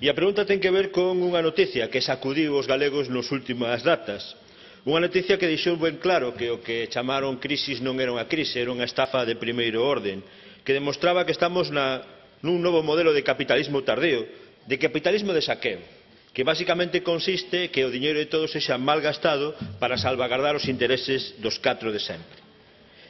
E a pregunta ten que ver con unha noticia que sacudiu os galegos nas últimas datas. Unha noticia que deixou ben claro que o que chamaron crisis non era unha crise, era unha estafa de primeiro orden, que demostraba que estamos nun novo modelo de capitalismo tardío, de capitalismo de saqueo, que basicamente consiste que o diñeiro de todos sexa mal gastado para salvagardar os intereses dos catro de sempre.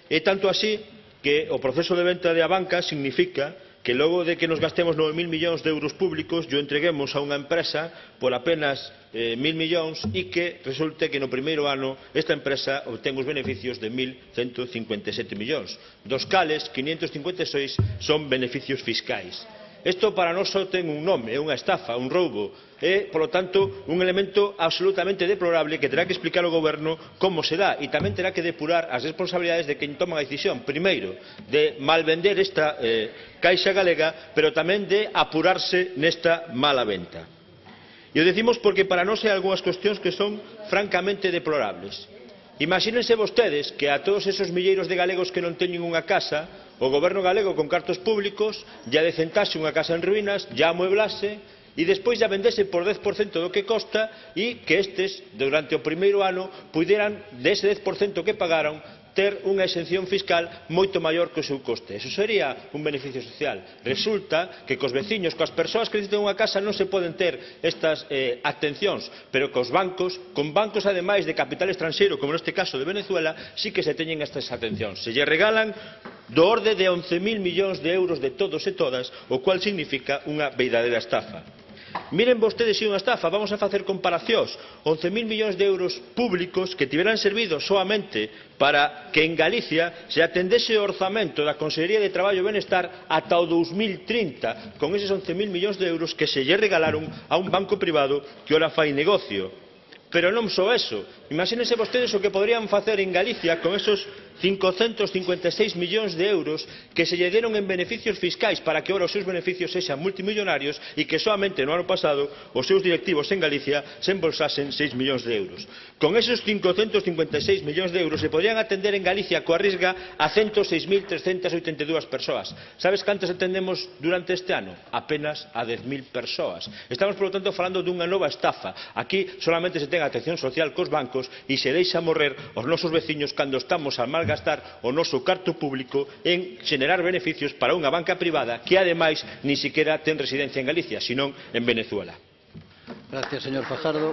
É tanto así que o proceso de venta de Abanca significa que logo de que nos gastemos 9.000 millóns de euros públicos yo entreguemos a unha empresa por apenas 1.000 millóns e que resulte que no primeiro ano esta empresa obtén os beneficios de 1.157 millóns, dos cales 556 son beneficios fiscais. Isto para nós só ten un nome, é unha estafa, un roubo. É, polo tanto, un elemento absolutamente deplorable que terá que explicar o Goberno como se dá e tamén terá que depurar as responsabilidades de quen toma a decisión, primeiro, de malvender esta Caixa Galega, pero tamén de apurarse nesta mala venta. E o decimos porque para nós hai algunhas cuestións que son francamente deplorables. Imagínense vostedes que a todos esos milleiros de galegos que non teñen unha casa, o goberno galego con cartos públicos ya decentase unha casa en ruínas, ya amueblase e despois ya vendese por 10% do que costa e que estes, durante o primeiro ano, puderan, dese 10% que pagaron, ter unha exención fiscal moito maior que o seu coste. Eso sería un beneficio social. Resulta que cos veciños, coas persoas que necesitan unha casa non se poden ter estas atencións, pero cos bancos, con bancos ademais de capital estranxeiro, como neste caso de Venezuela, sí que se teñen estas atencións. Se lle regalan do orde de 11.000 millóns de euros de todos e todas, o cual significa unha verdadeira estafa. Miren vostedes se unha estafa, vamos a facer comparacións. 11.000 millóns de euros públicos que tiveran servido soamente para que en Galicia se atendese o orzamento da Consellería de Traballo e Benestar ata o 2030, con eses 11.000 millóns de euros que se lle regalaron a un banco privado que ora fai negocio. Pero non só eso, imagínense vostedes o que poderían facer en Galicia con esos 556 millóns de euros que se lle deron en beneficios fiscais para que ora os seus beneficios sexan multimillonarios e que solamente no ano pasado os seus directivos en Galicia se embolsasen 6 millóns de euros. Con esos 556 millóns de euros se podrían atender en Galicia coa risga a 106.382 persoas. Sabes cantas atendemos durante este ano? Apenas a 10.000 persoas. Estamos, por lo tanto, falando dunha nova estafa. Aquí solamente se ten atención social cos bancos e se deixa morrer os nosos veciños cando estamos a malgastar o noso carto público en xenerar beneficios para unha banca privada que ademais ni siquiera ten residencia en Galicia, senón en Venezuela. Gracias, señor Fajardo.